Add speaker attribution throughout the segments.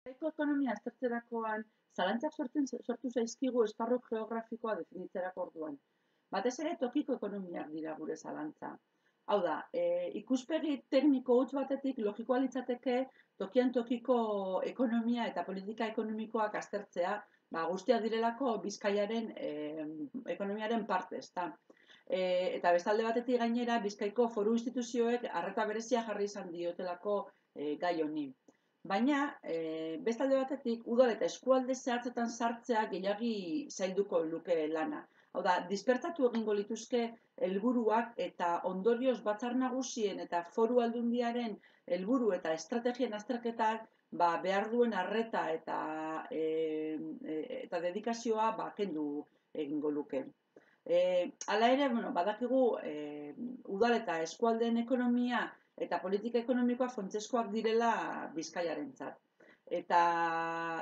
Speaker 1: Bizkaiko ekonomia aztertzerakoan, zalantzak sortu zaizkigu esparru geografikoa definitzerako orduan. Batez ere tokiko ekonomiak dira gure zalantza. Hau da, ikuspegi tekniko huts batetik logikoa litzateke tokian tokiko ekonomia eta politika ekonomikoak aztertzea, guztiak direlako Bizkaiaren ekonomiaren parte, ezta. Eta bestalde batetik gainera Bizkaiko foru instituzioek arreta berezia jarri izan diotelako gai honi. Baina, bestalde batetik, udal eta eskualde zehatzetan sartzea gehiagi zailduko luke lana. Hau da, dispertatu egingo lituzke helburuak eta ondorioz batzar nagusien eta foru aldundiaren helburu eta estrategien azterketak behar duen arreta eta dedikazioa kendu egingo luke. Hala ere, badakigu udal eta eskualdeen ekonomia eta politika ekonomikoa funtsezkoak direla Bizkaiarentzat. Eta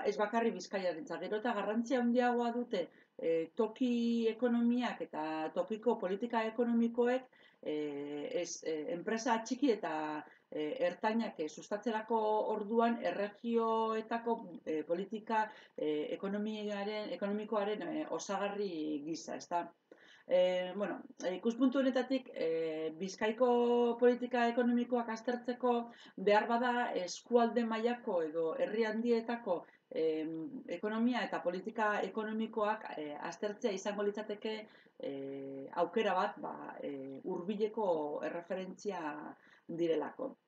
Speaker 1: ez bakarri Bizkaiarentzat, gero eta garrantzia handiagoa dute toki ekonomiak eta tokiko politika ekonomikoek enpresa txiki eta ertainak sustatzerako orduan erregioetako politika ekonomikoaren osagarri gisa, ezta? Ikuspuntu honetatik, Bizkaiko politika ekonomikoak aztertzeko behar bada eskualde mailako edo herri handietako ekonomia eta politika ekonomikoak aztertzea izango litzateke aukera bat hurbileko erreferentzia direlako.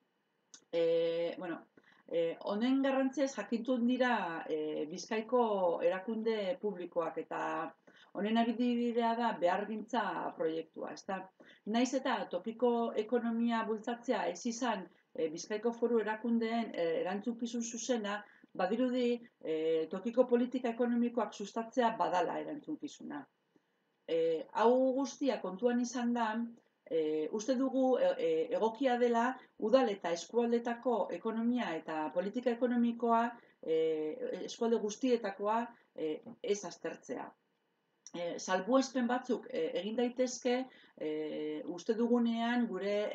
Speaker 1: Honen garrantziaz jakintun dira Bizkaiko erakunde publikoak eta honen adibidea da behargintza proiektua, ezta? Naiz eta tokiko ekonomia bultzatzea ez izan Bizkaiko foru erakundeen erantzukizun zuzena, badirudi tokiko politika ekonomikoak sustatzea badala erantzukizuna. Hau guztia kontuan izan da, uste dugu egokia dela udal eta eskualdetako ekonomia eta politika ekonomikoa eskualde guztietakoa ez aztertzea. Salbuespen batzuk egin daitezke uste dugunean gure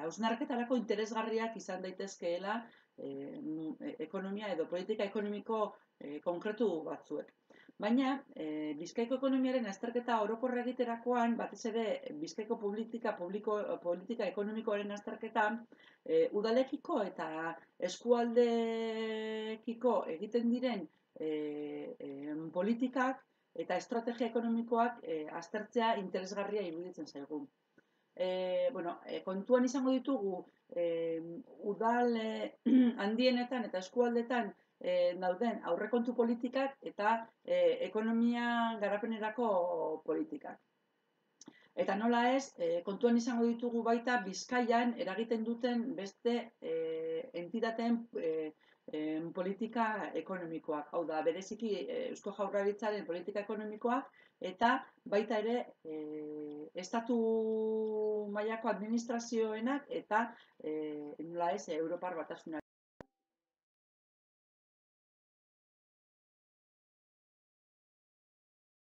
Speaker 1: hausnarketarako interesgarriak izan daitezkeela ekonomia edo politika ekonomiko konkretu batzuek. Baina, Bizkaiko ekonomiaren azterketa orokorra egiterakoan, batez ere Bizkaiko politika ekonomikoaren azterketa, udalekiko eta eskualdekiko egiten diren politikak eta estrategia ekonomikoak aztertzea interesgarria iruditzen zaigu. Kontuan izango ditugu udal handienetan eta eskualdetan dauden aurrekontu politikak eta ekonomia garapenerako politikak. Eta nola ez, kontuan izango ditugu baita Bizkaian eragiten duten beste entitateen politika ekonomikoak. Hau da, bereziki Eusko Jaurlaritzaren politika ekonomikoak eta baita ere estatu mailako administrazioenak eta nola ez, Europar Batasunaren